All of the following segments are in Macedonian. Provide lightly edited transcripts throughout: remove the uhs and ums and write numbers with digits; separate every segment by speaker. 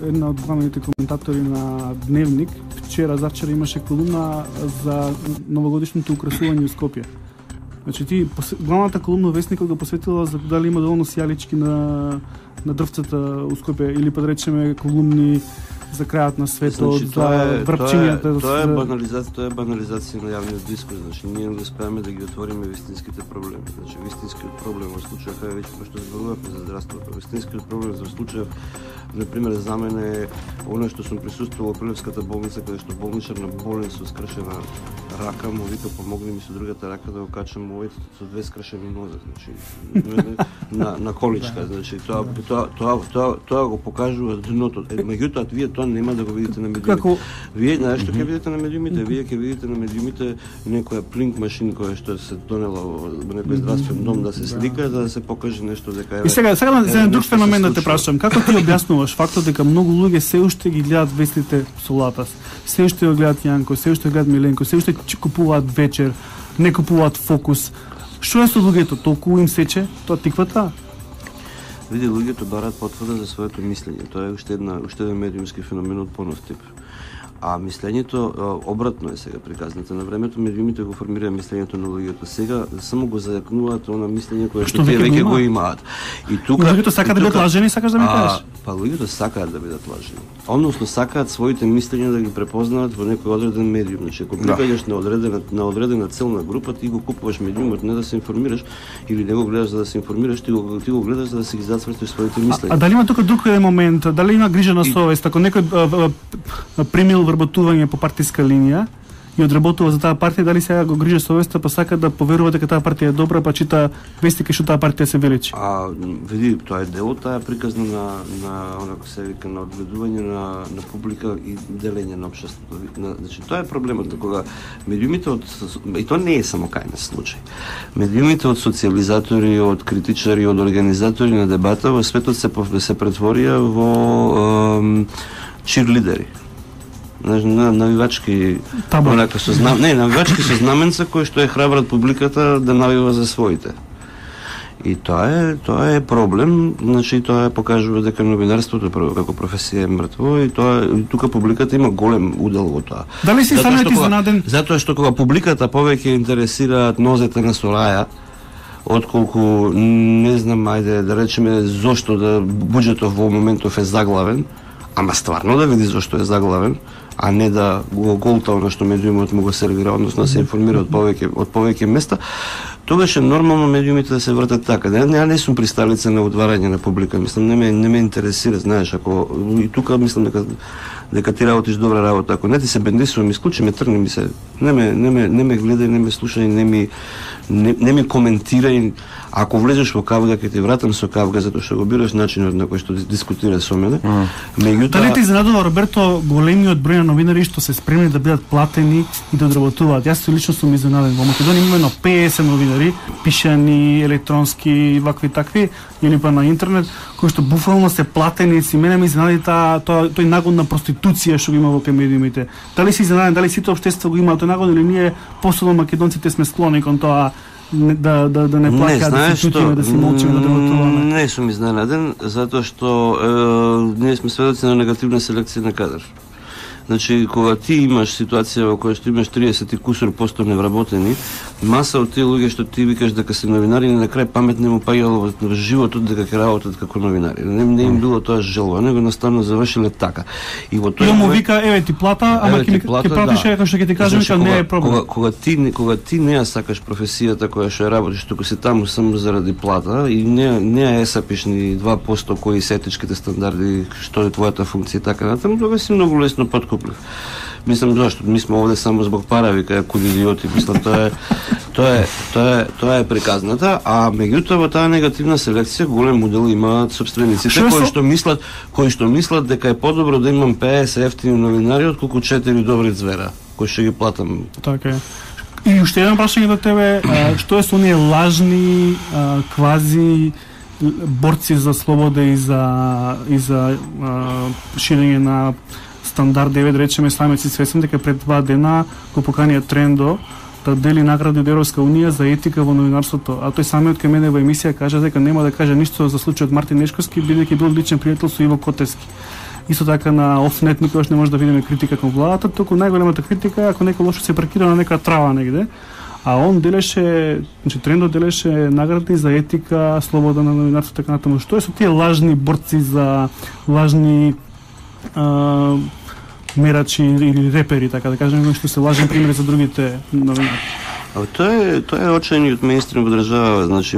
Speaker 1: една од главните коментатори на Дневник, завчера имаше колумна за новогодишното украсување у Скопје. Значи главната колумна Вестникот го посветила за дали има доволно сијалички на дрвцата у Скопје или па да речеме колумни за крајот на светот,
Speaker 2: значи,
Speaker 1: за врапчињата.
Speaker 2: Тоа е банализација на јавниот дискурс. Значи ние не успеаме да ги отвориме вистинските проблеми. Значи вистинскиот проблем во случајот кај веќе што зборувавме за здравството, вистинскиот проблем за случајот на пример за мене е оно што сум присуствувал во Прилевската болница каде што болничар на болен со скршена рака му вика помогни ми со другата рака да го качам овој со две скршени нозе, значи на количка, значи тоа го покажува дното. Меѓутоа вие тоа нема да го видите на медиумите. Вие знаеш што ќе видите на медиумите? Вие ќе видите на медиумите некоја плинк машин која што се донела во некој здравствен дом да се слика за да се покаже нешто дека
Speaker 1: И сега за друг феномен да те прашам, како ти објаснуваш фактот дека многу луѓе се уште ги гледат вестите со Латас, се уште го гледат Јанко, се уште гледат Миленко, се уште купуваат Вечер, не купуваат Фокус. Што е со луѓето? Толку им сече тоа тиквата?
Speaker 2: Види, луѓето бараат потврда за своето мислење. Тоа е уште еден медиумски феномен од понов тип. А мислењето обратно е сега приказната. На времето медиумите го формираа мислењето на луѓето. Сега само го зајакнуваат она мислење кое што тие веќе го имаат. И тука
Speaker 1: луѓето сакаат да бидат лажени, сакаш да ми кажеш?
Speaker 2: Па луѓето сакаат да бидат лажени. Односно сакаат своите мислења да ги препознаат во некој одреден медиум. Значи ако припаѓаш на одредена целна група, ти го купуваш медиумот не да се информираш или не го гледаш за да се информираш, ти го гледаш за да се ги зацвртиш своите мислења.
Speaker 1: А дали има тука друг момент? Дали има грижа на совест? Ако некој примил вработување по партиска линија и одработува за таа партија, дали сега го грижа совеста, па сака да поверува дека таа партија е добра, па чита вестики што таа партија се величи?
Speaker 2: Види, тоа е дел од таа приказна на онако се вика на одгледување на публика и делење на општеството. Значи тоа е проблемот кога медиумите и тоа не е само кај нас случај. Медиумите од социализатори, од критичари, од организатори на дебата во светот се претворија во чирлидери. Навивачки онака со навивачки со знаменца кои што е храбрат публиката да навива за своите. И тоа е проблем, значи тоа покажува дека новинарството како професија е мртво и тука публиката има голем удел во тоа.
Speaker 1: Дали си станете изненаден?
Speaker 2: Затоа што кога публиката повеќе интересираат нозете на Сораја, отколку не знам, ајде да речеме зошто да буџетов во моментов е заглавен, ама стварно да види зошто е заглавен, а не да го голта оно што медиумот му го сервира, односно да се информира од повеќе места, тогаш е нормално медиумите да се вртат така. Не сум присталица на отварање на публика, мислам не ме интересира, знаеш, ако и тука мислам дека ти работиш добра работа, ако не ти се бендисувам, исклучи ме, тргни ми се, не ме гледај, не ме слушај, не ми коментирај. Ако влезеш во кавга, ќе ти вратам со кавга, затоа што го бираш начинот на кој што дискутира со мене.
Speaker 1: Дали ти изненадува, Роберто, големиот број на новинари што се спремни да бидат платени и да одработуваат? Јас лично сум изненаден. Во Македонија имаме 50 новинари, пишани, електронски, вакви такви, или па на интернет, кои што буфално се платени. Си мене ми изненади тој нагон на проституција што го има во медиумите. Дали си изненаден, дали сите општество го има тој нагон или ние посебно македонците сме склони кон тоа да не плакаат, да се чутиме, да се молчиме, да работуваме?
Speaker 2: Не сум изненаден, затоа што ние сме сведоци на негативна селекција на кадар. Значи, кога ти имаш ситуација во која што имаш 30 и кусур % невработени, маса од тие луѓе што ти викаш дека се новинари, на крај памет не му паѓало во животот дека ќе работат како новинари. Не им било тоа желба, него наставно завршиле така. И во тој
Speaker 1: му вика, еве ти плата, ама ќе платиш како што ќе ти кажам, дека не е проблем.
Speaker 2: Кога ти не ја сакаш професијата која што работиш, туку си таму само заради плата и не ја сапиш ни 2% кои се етичките стандарди, што е твојата функција така натаму, тогаш си многу лесно подкуплив. Мислам зашто ми сме овде само због пара, вика куд идиоти, мислам тоа е приказната, а меѓутоа во таа негативна селекција голем удел имаат сопствениците кои што мислат дека е подобро да имам 50 ефтини новинари отколку 4 добри звера кои ќе ги платам.
Speaker 1: Така е. И уште едно прашање до тебе, што е со оние лажни квази борци за слобода и за ширење на стандард 9, речеме, самиот си свесен дека пред 2 дена го поканија Трендо да дели награди од Европска унија за етика во новинарството, а тој самиот кај мене во емисија кажа дека нема да каже ништо за случајот Мартин Нешковски, бидејќи бил личен пријател со Иво Котевски. исто така на Офнет никогаш не може да видиме критика кон владата, туку најголемата критика е ако некој лошо се паркира на некоја трава негде. А он делеше, значи трендот делеше награди за етика, слобода на новинарството, така натаму. Што е со тие лажни борци за лажни мерачи или репери, така да кажеме, што се лажен пример за другите новинари?
Speaker 2: Тоа е очајниот мејнстрим во држава, значи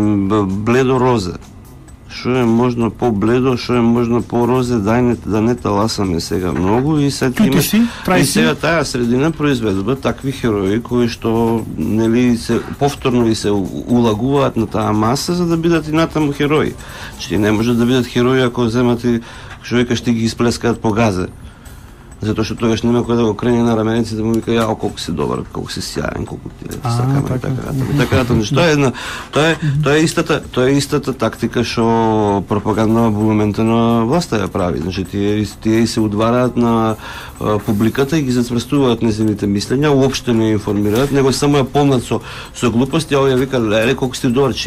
Speaker 2: бледо розе. Што е можно по-бледо, што е можно по-розе, да не таласаме сега многу и сега таа средина произведува такви херои кои што нели се повторно и се улагуваат на таа маса за да бидат и натаму херои. Че не може да бидат херои ако земате човека што ги исплескаат по газе. Затоа што тогаш нема кој да го крене на раменици да му вика јао колку си добар, колку си сјаен, колку ти сакаме така. Тоа е истата тактика што пропаганда во моментот на власта ја прави. Значи тие се удвараат на публиката и ги зацврстуваат нејзините мислења, уопште не информираат, него само ја полнат со глупости, а овие вика леле колку си добар,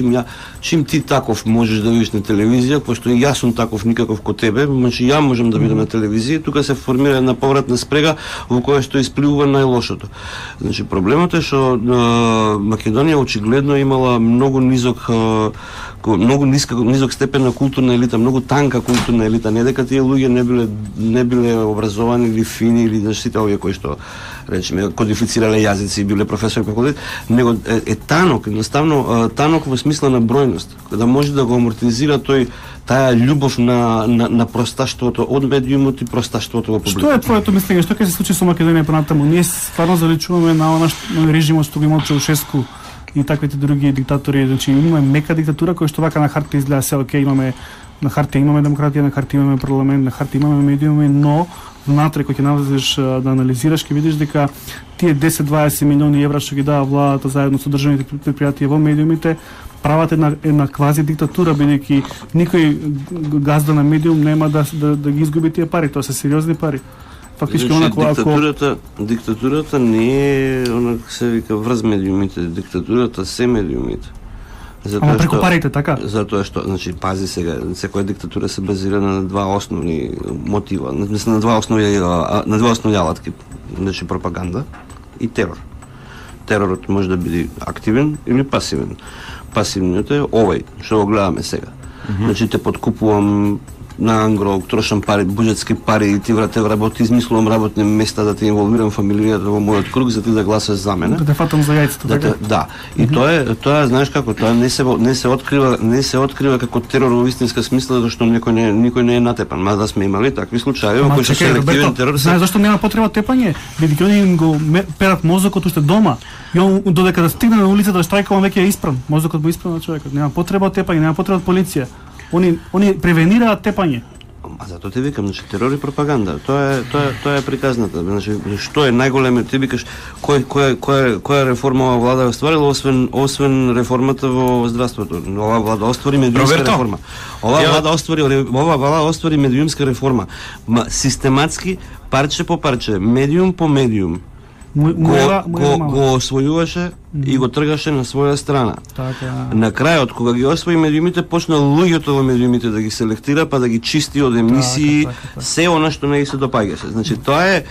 Speaker 2: чим ти таков можеш да видиш на телевизија, пошто јас сум таков никаков ко тебе, значи ја можам да бидам на телевизија, тука се формира една повратна спрега во која што испливува најлошото. Значи проблемот е што Македонија очигледно имала многу низок степен на културна елита, многу танка културна елита, не дека тие луѓе не биле образовани или фини или сите овие кои што речеме кодифицирале јазици и биле професори по факултет, него е танок, едноставно танок во смисла на бројност, да може да го амортизира таа љубов на просташтвото од медиумот и просташтвото во публиката.
Speaker 1: Што е твоето мислење? Што ќе се случи со Македонија понатаму? Ние стварно заличуваме на режимот што го имал Чаушеску и таквите други диктатори, значи имаме мека диктатура која што вака на хартија изгледа се окей, имаме на хартија имаме демократија, на хартија имаме парламент, на хартија имаме медиуми, но внатре кога ќе навлезеш да анализираш ќе видиш дека тие 10-20 милиони евра што ги дава владата заедно со државните предпријатија во медиумите прават една квази диктатура, бидејќи никој газда на медиум нема да ги изгуби тие пари, тоа се сериозни пари.
Speaker 2: Фактички диктатурата не е се вика врз медиумите, диктатурата се медиумите.
Speaker 1: Ама преку парите, така?
Speaker 2: Затоа што, значи, пази сега, секоја диктатура се базира на два основни мотива, на два основни алатки, значи пропаганда и терор. Теророт може да биде активен или пасивен. Пасивниот е овој, што го гледаме сега. Значи, те подкупувам на ангро, трошам пари, буџетски пари и ти работи, измислувам работни места да те инволвирам фамилијата во мојот круг за ти да гласаш за мене.
Speaker 1: Да те фатам за јајцето, така?
Speaker 2: Да. И тоа знаеш како, тоа не се открива како терор во вистинска смисла, зашто никој не е натепан. Мада сме имали такви случаи во кои што селективен терор.
Speaker 1: Знаеш зашто нема потреба тепање? Бидејќи они им го перат мозокот уште дома. И он додека да стигне на улицата да штрајкува веќе е испран. Мозокот му испран на човекот. Нема потреба тепање, нема потреба полиција. Они превенираат тепање.
Speaker 2: А затоа ти викам, значи терор и пропаганда. Тоа е приказната. Значи што е најголемиот, ти викаш која реформа ова влада остварила освен реформата во здравството. Ова влада оствари медиумска реформа. Ова влада оствари медиумска реформа. Систематски парче по парче, медиум по медиум. Го освојуваше и го тргаше на своја страна. На крајот, кога ги освои медиумите, почна луѓето во медиумите да ги селектира, па да ги чисти од емисии, се она што не ги се допаѓаше. Значи, тоа е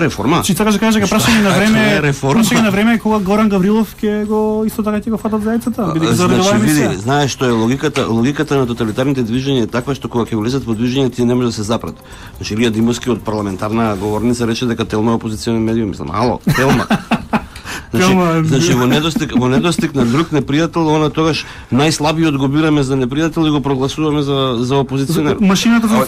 Speaker 2: реформа.
Speaker 1: Значи, така да кажа, дека прашање на време кога Горан Гаврилов ќе го исто така ќе го фатат за јајцата, бидејќи заредува емисија.
Speaker 2: Знаеш што е логиката на тоталитарните движења е таква што кога ќе влезат во движење тие не може да се запрат. Значи, Илија Димовски од парламентарна говорница рече дека Телма е опозиционен медиум, мислам, ало, Телма. Значи во недостиг на друг непријател, она тогаш најслабиот го бираме за непријател и го прогласуваме за опозиционер.
Speaker 1: Машината
Speaker 2: мора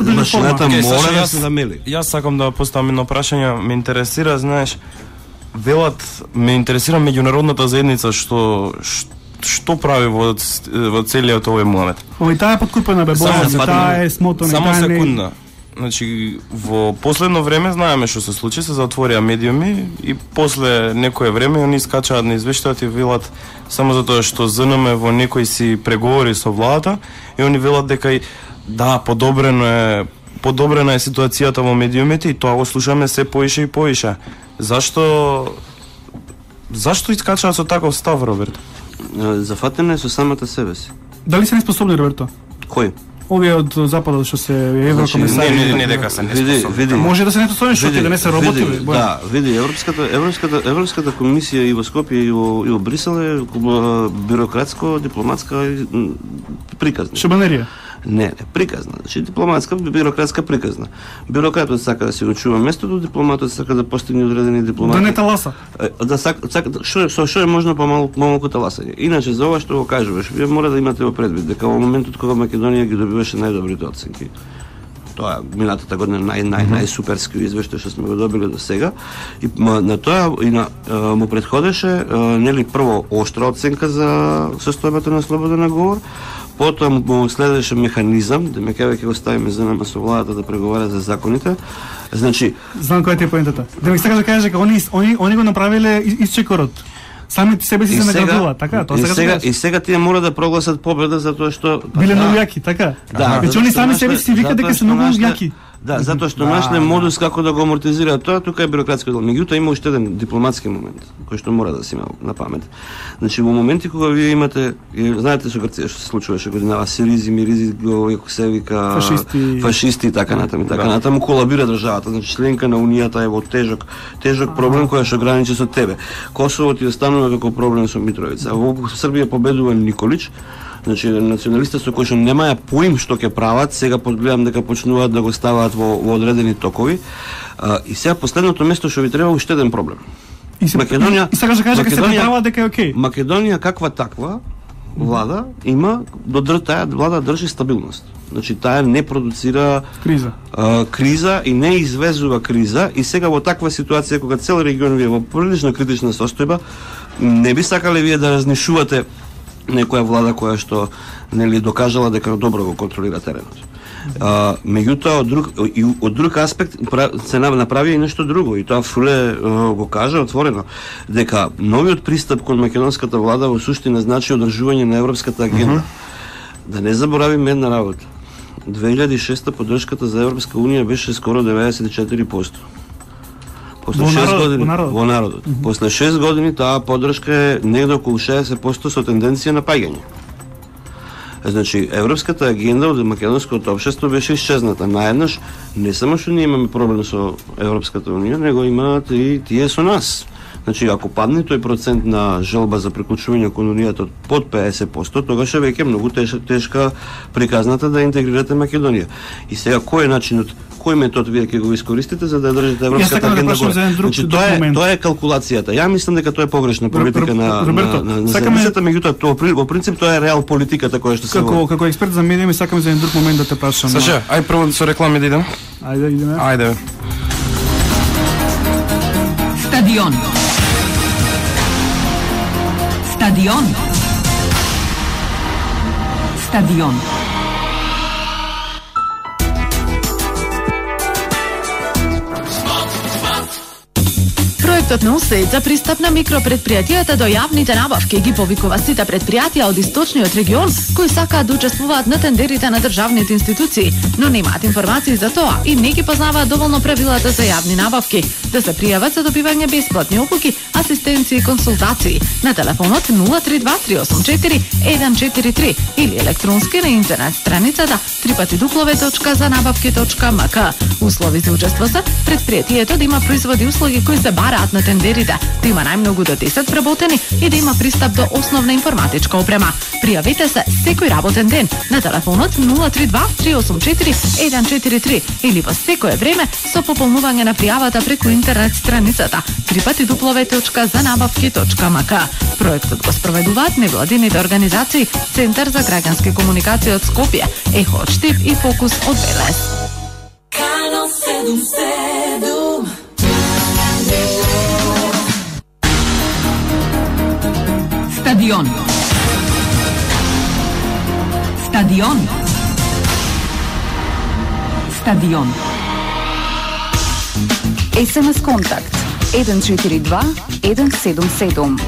Speaker 2: да се замели.
Speaker 3: Јас сакам да поставам едно прашање, ме интересира, знаеш, ме интересира меѓународната заедница што прави во целиот овој момент.
Speaker 1: Таа е подкупена таа е смотана.
Speaker 3: Само секунда. Значи, во последно време знаеме што се случи, се затворија медиуми и после некое време они скачаат на извештајот и велат само затоа што ЗНМ во некој си преговори со владата и они велат дека да, подобрена е ситуацијата во медиумите и тоа го слушаме се поише и поише. Зашто искачаат со таков став, Роберто?
Speaker 2: Зафатено е со самата себе си.
Speaker 1: Дали се неспособни, Роберто?
Speaker 2: Кој?
Speaker 1: Овие од западот што се еврокомисари.
Speaker 3: Не дека се неспособни.
Speaker 1: Може да се неспособни што да не се работи.
Speaker 2: Да, види, Европската комисија и во Скопје и во Брисел е бирократско, дипломатска приказна.
Speaker 1: Шабанерија.
Speaker 2: Не, приказна. Значи дипломатска, бирократска приказна. Бирократот сака да си го чува местото, дипломатот сака да постигне одредени дипломати.
Speaker 1: Да не таласа.
Speaker 2: Да сака што е можно помалку таласање. Иначе за ова што го кажуваш, вие мора да имате во предвид дека во моментот кога Македонија ги добиваше најдобрите оценки, тоа минатата година најсуперски извештај што сме го добили до сега, и на тоа и му претходеше нели прво оштра оценка за состојбата на слободен говор, потоа му следеше механизам, да ме ќе го ставиме за nama со владата да преговара за законите. Значи,
Speaker 1: знам која е поентата. Да ми сакаш да кажеш дека они го направиле исчекорот. Сами себе си се наградуваат, така? Тоа сега
Speaker 2: и сега тие мора да прогласат победа затоа што
Speaker 1: биле многу јаки, така?
Speaker 2: Да,
Speaker 1: значи они сами себе си викаат дека се многу јаки.
Speaker 2: Да, затоа што нашле модус како да го амортизираат тоа, тука е бирократски дел. Меѓутоа има уште еден дипломатски момент кој што мора да се има на памет. Значи во моменти кога вие имате, знаете со Грција што се случуваше годинава, Сиризи, Миризи, како се вика, фашисти и така натаму, така натаму колабира државата. Значи членка на унијата е во тежок проблем кој што граничи со тебе. Косово ти останува како проблем со Митровица. Во Србија победува Николич. Значи националистите со кои што немаја поим што ќе прават, сега подгледам дека почнуваат да го ставаат во одредени токови. И сега последното место што ви треба уште еден проблем.
Speaker 1: Македонија, и сакаш да кажеш дека се прават дека е окей.
Speaker 2: Македонија каква таква влада има, таа влада држи стабилност. Значи таа не продуцира криза и не извезува криза, и сега во таква ситуација кога цел регион е во прилично критична состојба, не би сакале вие да разнишувате некоја влада која што нели докажала дека добро го контролира теренот. Меѓутоа од друг аспект се направи и нешто друго, и тоа Фуле го кажа отворено, дека новиот пристап кон македонската влада во суштина значи одржување на европската агенда. Да не заборавиме една работа. 2006 поддршката за Европска унија беше скоро 94%. После 6 години во народот. После 6 години таа поддршка е негде околу 60% со тенденција на паѓање. Значи, европската агенда од македонското општество беше исчезната. Наеднаш, не само што ние имаме проблем со Европската унија, него имаат и тие со нас. Значи, ако падне тој процент на желба за приклучување кон унијата под 50%, тогаш е веќе многу тешка приказната да интегрирате Македонија. И сега кој е начинот, кој метод вие ќе го искористите за да држите европската агенда горе? Значи, тоа е калкулацијата. Ја мислам дека тоа е погрешна политика на земјата, меѓутоа тоа во принцип тоа е реал политиката која што се води.
Speaker 1: Како експерт за медиуми сакам за еден друг момент да те прашам.
Speaker 3: Саша, ај прво со реклами да идеме.
Speaker 1: Ајде.
Speaker 3: Ајде.
Speaker 4: Стадион. Проектот на УСАИД за пристап на микропредпријатијата до јавните набавки ги повикува сите предпријатија од источниот регион кои сакаат да учествуваат на тендерите на државните институции, но немаат информации за тоа и не ги познаваат доволно правилата за јавни набавки. Да се пријават за добивање бесплатни опуки, асистенции и консултации на телефонот 032-384-143 или електронски на интернет страницата www.zanabavki.mk. Услови за учество се предпријатието да има производи и услуги кои се бараат на тендерите, да има најмногу до 10 вработени и да има пристап до основна информатичка опрема. Пријавете се секој работен ден на телефонот 032-384-143 или во секое време со пополнување на пријавата преку интернет страницата www.zanabavki.mk. Проектот го спроведуваат невладините организации Центар за граѓански комуникации од Скопје, Ехо од Штип и Фокус од Велес.
Speaker 5: Канал 77.
Speaker 4: Стадион. СМС контакт 142 177.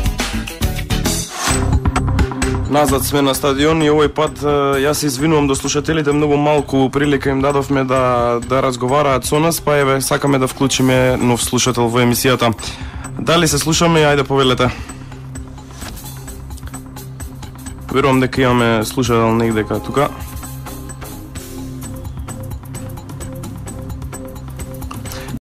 Speaker 3: Назад сме на стадион и овој пат јас се извинувам до слушателите, многу малку прилика им дадовме да разговараат со нас, па еве сакаме да вклучиме нов слушател во емисијата. Дали се слушаме? Ајде повелете. Верувам дека имаме слушател негдека тука.